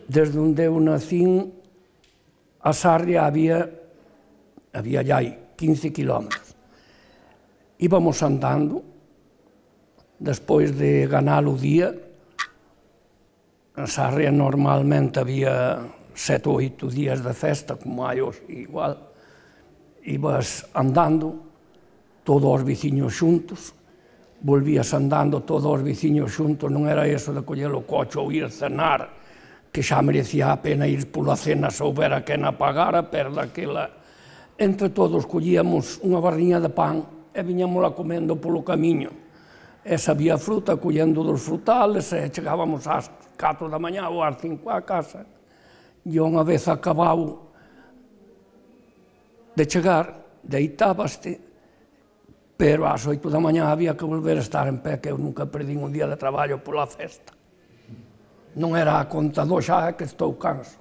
desde onde eu nacín, a Sarria había ya 15 kilómetros. Íbamos andando, despois de ganar o día. En Sarria normalmente había 7 ou 8 días de festa, como hai hoxe igual. Ibas andando, todos os veciños xuntos, volvías andando todos os veciños xuntos, non era eso de coller o coche ou ir cenar, que xa merecía a pena ir pola cena se houbera quen a pagara, pero daquela, entre todos collíamos unha barriña de pan e viñámola comendo polo camiño. E se había fruta, collendo dos frutales, e chegábamos ás 4 da mañá ou ás 5 á casa. E unha vez acabado de chegar, deitábaste, pero ás 8 da mañá había que volver a estar en pé, que eu nunca perdín un día de traballo pola festa. Non era a conta do xa, é que estou canso.